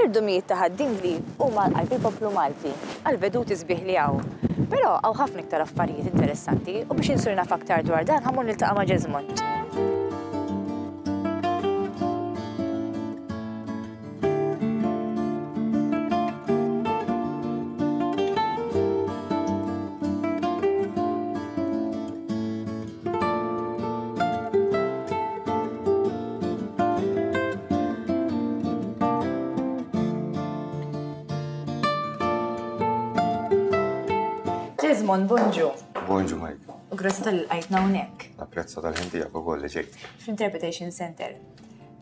L-irdumijiet ta' Ħad-Dingli huma għal qalb il-poplu Malti, għall-veduti sbieħ li hawn. Però hawn ħafna iktar affarijiet interessanti u biex insir naf aktar dwar dan ħa mmur niltaqa' ma' Jesmond. Desmond, bonġu. Bonġu, Mike. U grazzi tal-għajtna hawnhekk. Napprezza tal-ħin tiegħek ukoll li ġejt. Fl-Interpretation Center.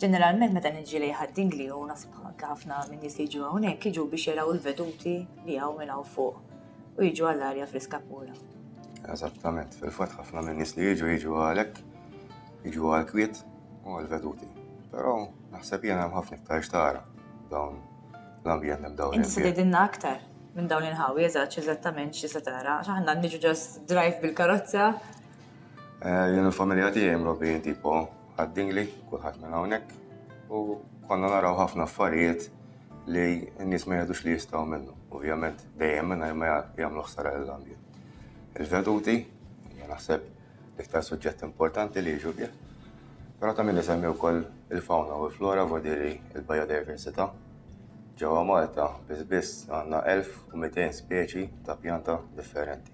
Ġeneralment meta niġi lejn Ħad-Dingli u nasib anke ħafna minn nies li jiġu hawnhekk jiġu biex jaraw il-veduti li hawn minn hawn fuq u jiġu għall-arja friska pura. Eżattament, fil-fatt ħafna minn nies li jiġu jiġu għalhekk, jiġu għall-kwiet u għall-veduti. Però naħseb jiena hemm ħafna iktar x'tara dawn l-ambjent hemm dawn. Inti se tgħidilna aktar minn dawn l-inħawi eżatt eżattament x'se tara, għax aħna niġu just drive bil-karozza. Eh, jien il-familja tiegħi mrobbijin tipo Ħad-Dingli, kulħadd minn hawnhekk, u konna naraw ħafna affarijiet li n-nies ma jgħidux li jistgħu minnu. Ovvjament dejjem mingħajr ma jagħmlu ħsara lill-ambjent. Il-veduti, hija naħseb l-iktar suġġett importanti li jiġu bih. Però ta' min isemmi wkoll il-fauna u l-flora vodiri il-biodiversità. Ġewwa Malta biss biss għandna 1200 speċi ta' pjanta differenti.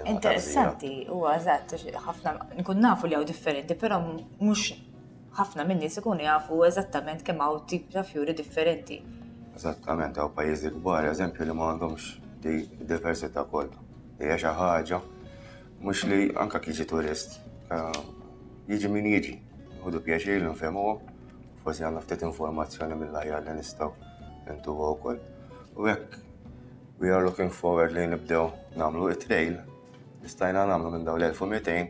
Interessanti, huwa eżatt, ħafna nkun nafu li hawn differenti, però mhux ħafna minn nies ikunu jafu eżattament kemm hawn tip ta' fjuri differenti. Eżattament, hawn pajjiżi kbar, eżempju li ma għandhomx di diversità kollha. Hija xi ħaġa mhux li anka jiġi turist, eh, jiġi min jiġi, ħudu pjaċir li nfehmuhom, forsi għandna ftit informazzjoni mill-aħjar li nistgħu intuha wkoll. U hekk we are looking forward li nibdew nagħmlu it-trail li stajna nagħmlu minn dawn l-1200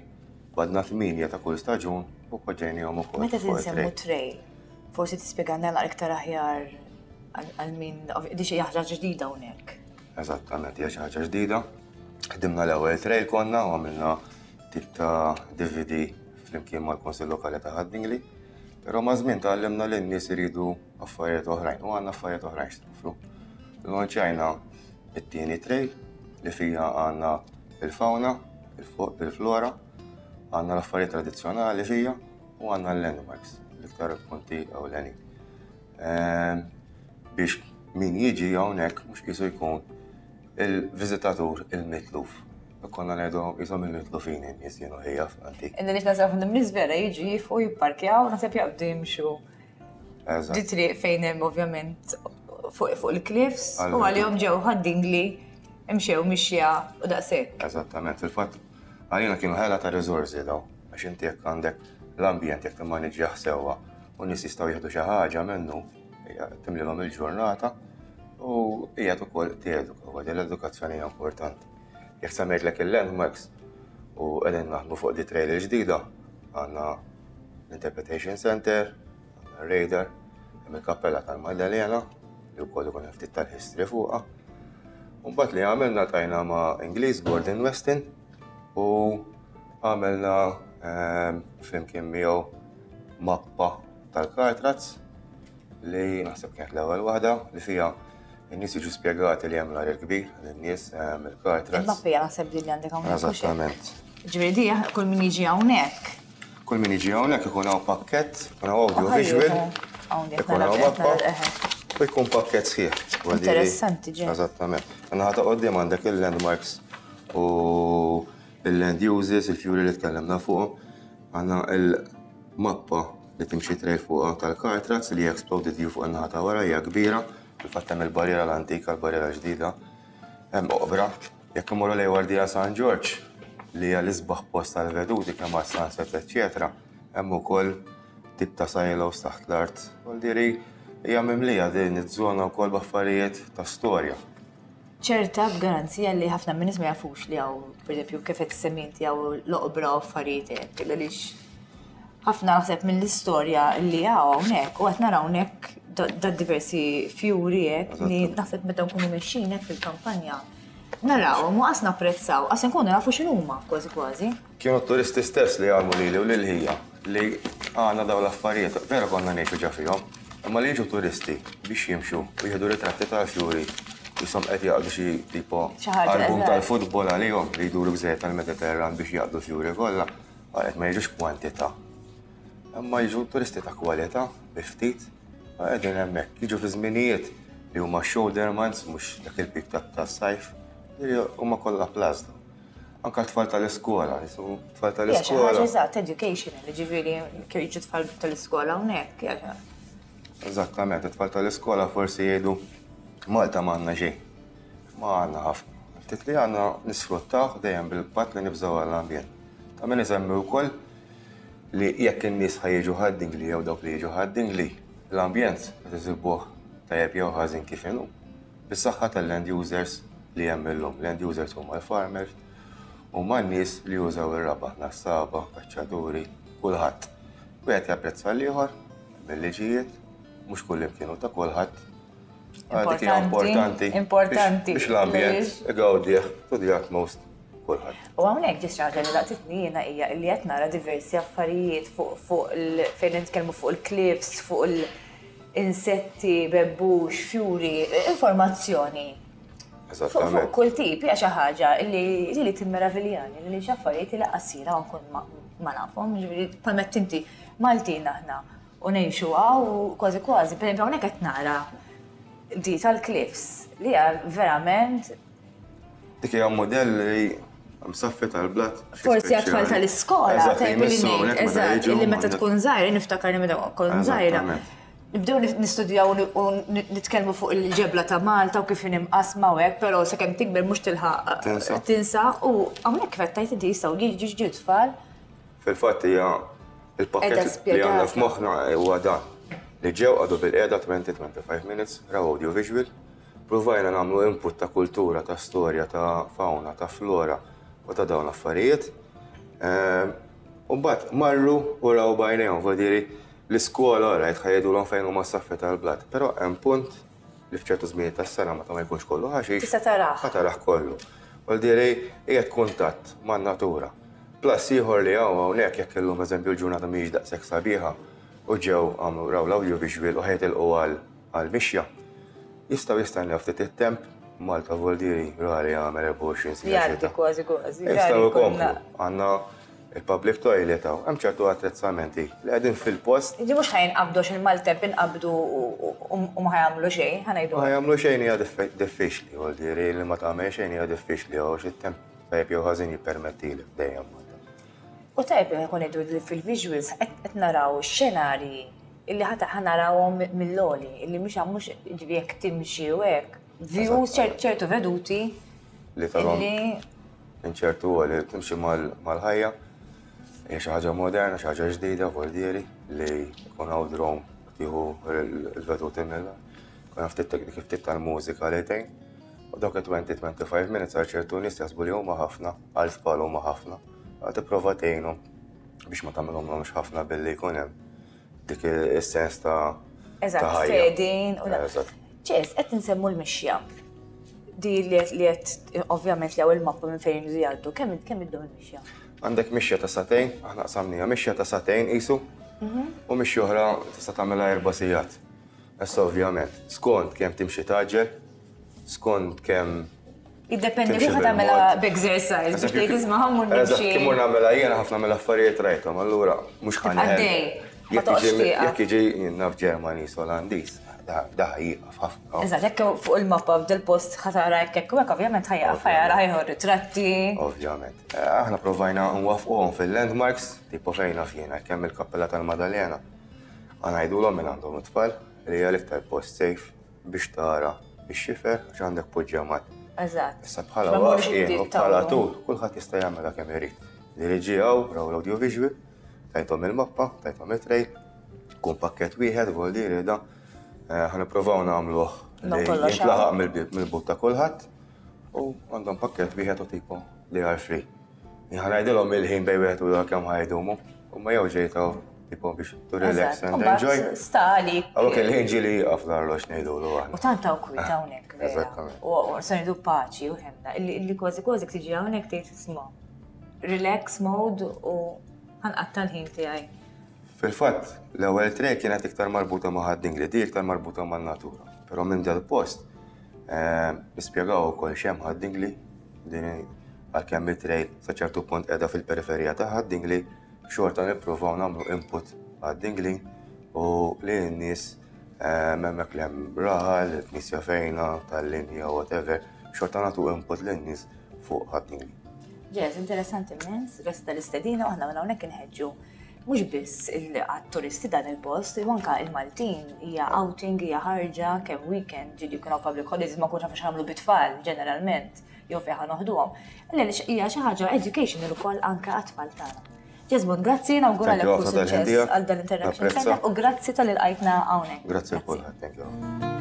badna 8 ta' kull staġun u poġġejnihom ukoll. Meta tinsemmu trail, forsi tispjegalna naqra iktar aħjar għal min di xi ħaġa ġdida hawnhekk. Eżattament, hija xi ħaġa ġdida. Ħdimna l-ewwel trail konna u għamilna tip ta' DVD flimkien mal-Kunsill Lokali ta' Ħad-Dingli. Però ma' żmien tgħallimna li n-nies iridu affarijiet oħrajn u għandna affarijiet oħrajn x'nofru. Launchajna it-tieni trail li fija għandna il-fauna, il-flora, għandna l-affarijiet tradizzjonali fija u għandna l-landmarks, l-iktar punti ewlenin. Ehm, biex min jiġi hawnhekk mhux qisu jkun il-viżitatur il-mitluf. Konna ngħidu qishom il-mitlufin in-nies jienu ħija f'antik. Inna nix nasab nies vera jiġu jifu jipparkjaw, naħseb jaqbdu jimxu. Di triq fejn hemm ovvjament fuq il-cliffs u għalihom ġew ħaddingli imxew mixja u daqshekk. Eżattament, fil-fatt għalina kienu ħela ta' riżorsi daw, għax inti jekk għandek l-ambjent jekk timmaniġġjah sewwa u nies jistgħu jieħdu xi ħaġa minnu, timlilhom il-ġurnata u qiegħed ukoll tieduka, u l-edukazzjoni hija importanti. Jekk semmejtlek il-landmarks u qegħdin naħdmu fuq di trail il-ġdida, għandna l-Interpretation Center, għandna radar, hemm il-kappella tal-Maddalena li wkoll ikun hemm ftit tal-history fuqha. Mbagħad li għamilna tajna ma' Ingliż Gordon Weston u għamilna ehm, flimkien miegħu mappa tal-Kartraz li naħseb kienet l-ewwel waħda li fiha in-nies jiġu spjegati li hemm l-ar il-kbir lin-nies ehm, il-Kartraz. Il-mappa hija naħseb li għandek hawnhekk. Eżattament. Ġifieri di kull min jiġi hawnhekk. Kull min jiġi hawnhekk ikun hawn pakkett, ikun hawn audio visual, ikun hawn mappa u jkun pakkett sħiħ. Interessanti ġej. Eżattament. Naħa ta' qoddim għandek il-landmarks u il-land uses, il-fjuri li tkellimna fuqhom. Għandna il-mappa li timxi trail fuqha tal-Cartrax li hija exploded view fuq in-naħa ta' wara hija kbira. Fil-fatt hemm il-barriera l-antika, l-barriera ġdida. Hemm oqbra Jekk immorru lejn Wardija San Ġorġ, li hija l-isbaħ post għall-veduti kemm għas-sunset eċċetera, hemm ukoll tip ta' silos taħt l-art. Vuol hija mimlija din iż-żona wkoll b'affarijiet ta' storja. Ċerta b'garanzija li ħafna min-nies ma jafux li hawn, pereżempju, kif qed issemmi inti hawn l-oqbra u affarijiet hekk, għaliex ħafna naħseb mill-istorja li hawn hawnhekk u qed naraw hawnhekk da diversi fjuri hekk li naħseb meta nkunu mexjin hekk fil-kampanja Narawhom u qas napprezzaw, qas inkunu nafu x'inhuma kważi kważi. Kienu t-turisti stess li għallmu lili u lil ħija li għandna dawn l-affarijiet, vera konna ngħixu ġa fihom. Imma li jiġu turisti biex jimxu u jieħdu ritratti tal-fjuri jisom qed jaqdu xi tipo album tal-futbol għalihom li jduru gżejjer tal-Mediterran biex jaqdu fjuri kollha, għalet ma jiġux kwantità. Imma jiġu turisti ta' kwalità bi ftit qegħdin hemmhekk. Jiġu fi żminijiet li huma shoulder months mhux dak il-pik tas-sajf, li huma kollha plus. Anka tfal tal-iskola, jisu tfal tal-iskola. Ħaġa eżatt, educational, ġifieri kif jiġu tfal tal-iskola hawnhekk. Eżattament, it-tfal tal-iskola forsi jgħidu Malta m'għandna xejn. Ma għandna ħafna. Ftit li għandna nisfruttaw dejjem bil-patt li nibżgħu għall-ambjent. Ta' min isemmi wkoll li jekk in-nies ħa jiġu Ħad-Dingli jew dawk li jiġu Ħad-Dingli, l-ambjent qed isibuh tajjeb jew ħażin kif inhu. Bis-saħħa tal-land users li hemm illum. Land users huma l-farmers, huma n-nies li jużaw ir-raba', nassaba, kaċċaturi, kulħadd. Wieħed japprezza l-ieħor, mill-liġijiet, mhux kullimkien hu ta' kulħadd. Dik hija importanti. Importanti. Biex l-ambjent igawdih to the utmost kulħadd. U hawnhekk ġie xi ħaġa li laqtitni jiena hija li qed nara diversi affarijiet fuq fuq fejn nitkellmu fuq il-cliffs, fuq il- insetti, bebbux, fjuri, informazzjoni. Fuq kull tip, hija xi ħaġa li li timmeraviljani, li xi affarijiet li qasira nkun ma nafhom, ġifieri bħalma inti Maltin aħna u ngħixu hawn u kważi kważi, pereżempju hawnhekk qed nara di tal-cliffs li hija verament Dik hija mudell li msaffi tal-blat. Forsi għat-tfal tal-iskola, eżatt, li meta tkun żgħira, niftakar li meta kont żgħira. Nibdew nistudjaw u nitkellmu fuq il-ġebla ta' Malta u kif imqasma u hekk, però sakemm tikber mhux tilħaq tinsa u hawnhekk kif qed tgħid inti jistgħu jiġu tfal. Fil-fatt hija il-pakkett li għandna f'moħħna huwa dan li ġew qagħdu bilqiegħda 20-25 minutes raw audio visual Pruvajna nagħmlu input ta' kultura, ta' storja, ta' fauna, ta' flora u ta' dawn l-affarijiet. Ehm, u mbagħad marru u raw bajnejhom, vuol l-iskola rajt ħajdulhom fejn huma s-saffi tal-blat. Però hemm punt li f'ċertu żmien tas-sena meta ma jkunx kollu ħaxix. Tista' tarah. Ħa tarah kollu. Vuol dire qiegħed kuntatt man-natura. Plus ieħor li hawn hawnhekk jekk illum eżempju l-ġurnata mhijiex daqshekk sabiħa u ġew għamlu raw l-audiovisual u ħejtilqu għal għall-mixja. Jistgħu jistennew ftit it-temp, Malta Voldieri rari jagħmel 24 siegħa. Jgħaddi kważi kważi. Jistgħu jkomplu. Għandna il-public toilet hawn, hemm ċertu attrezzamenti li qegħdin fil-post. Ġi mhux ħa jinqabdu għax il-maltemp inqabdu u ma ħa jagħmlu xejn, ħa ngħidu. Ma jagħmlu xejn hija diffiċli, Voldieri li ma tagħmel xejn hija diffiċli għax it-temp tajjeb jew ħażin jippermettilek dejjem. U tajjeb li nkun ngħidu li fil-visuals qed naraw xenarji illi ħa ħa narawhom mill-għoli, illi mhux mhux ġifieri jekk timxi u hekk, views ċertu veduti. Li tarhom minn ċertu għoli timxi mal-ħajja, hija xi ħaġa moderna, xi ħaġa ġdida, voldieri li jkun hawn drone tieħu l-veduti mill Kun ftit tekniki ftit tal-mużika li tgħin. U dawk 20-25 minutes għal ċertu nies jaħsbu li huma ħafna, għal tfal huma ħafna. Tipprova tgħinhom biex ma tagħmilhomx ħafna billi jkun hemm dik is-sens ta' Eżatt, fedin. Ċes, qed nsemmu l-mixja. Di li qed ovvjament li il-mappa minn fejn jgħaddu, kemm kemm iddum il-mixja? Għandek mixja ta' sagħtejn, aħna qsamnija mixja ta' sagħtejn qisu, u mixja oħra tista' tagħmilha erba' sigħat. Issa ovvjament, skont kemm timxi tgħaġġel, skont kemm Jiddependi kif tagħmilha b'exercise, biex tgħid isma' ħammur nimxi. Kif mur nagħmilha jiena ħafna mill-affarijiet rajthom, allura mhux ħa Għaddej. Jekk jiġi naf Ġermaniż, Olandiż, da jieqaf ħafna. Eżatt, jekk fuq il-mappa f'dil post ħa tara hekk hekk u hekk ovvjament ħa jieqaf ħa jara ħa jieħu ritratti. Ovvjament. Eh, aħna provajna nwafquhom fil-landmarks, tipo fejn naf jiena, kemm il-Kappella tal-Madalena. Ħa ngħidulhom minn għandhom it-tfal li hija l-iktar post safe biex tara ix-xifer għax għandek poġġjamat. Eżatt. Issa bħala waqfien u bħala tul, kulħadd jista' jagħmilha kemm irid. Li ġie hawn raw l-audio visual, tajthom il-mappa, tajthom it-trail, kun pakkett wieħed voldieri da. Eh, ħa nippruvaw nagħmluh li jintlaħaq mill-but ta' kulħadd u għandhom pakkett wieħed u tipo li are free. Ħa ngħidilhom il-ħin bejn wieħed u ieħor kemm ħa jdumu, u ma jew ġejtaw tipo biex to relax and enjoy. Sta għalik. Għawek il-ħin ġieli jieqaf l-arloġ ngħidulu aħna. U tant hawn kwiet hawnhekk. Eżattament. U se ngħidu paċi u ħemna, illi kważi kważi tiġi hawnhekk tgħid isma' relax mode u ħanqatta' l-ħin tiegħi. Fil-fatt, l-ewwel trail kienet iktar marbuta ma' Ħad-Dingli, di iktar marbuta man-natura. Però minn dal-post eh, nispjegaw ukoll x'hemm Ħad-Dingli, din għalkemm it-trail sa ċertu punt qiegħda fil-periferija ta' Ħad-Dingli, xorta nippruvaw nagħmlu input Ħad-Dingli u li n-nies eh, hemmhekk li hemm raħal, il-knisja fejna, tal-linja, whatever, xorta nagħtu input lin-nies fuq Ħad-Dingli. Jazz, interessanti immens, grazzi tal-istedina, u aħna minn hawnhekk inħeġġu mhux biss għat-turisti dan il-post, imma anke il-Maltin hija outing, hija ħarġa kemm weekend, ġieli jkun hawn public holidays ma nkunx naf x'għamlu bit-tfal ġeneralment jew fejn ħa noħduhom. Għaliex hija xi ħaġa educational ukoll anke għat-tfal tagħna. Jesmond, grazzi, nawguralek kull suċċess għal dan l-Interaction Center u grazzi tal-ilqajtna hawnhekk. Grazzi lil kulħadd, thank you.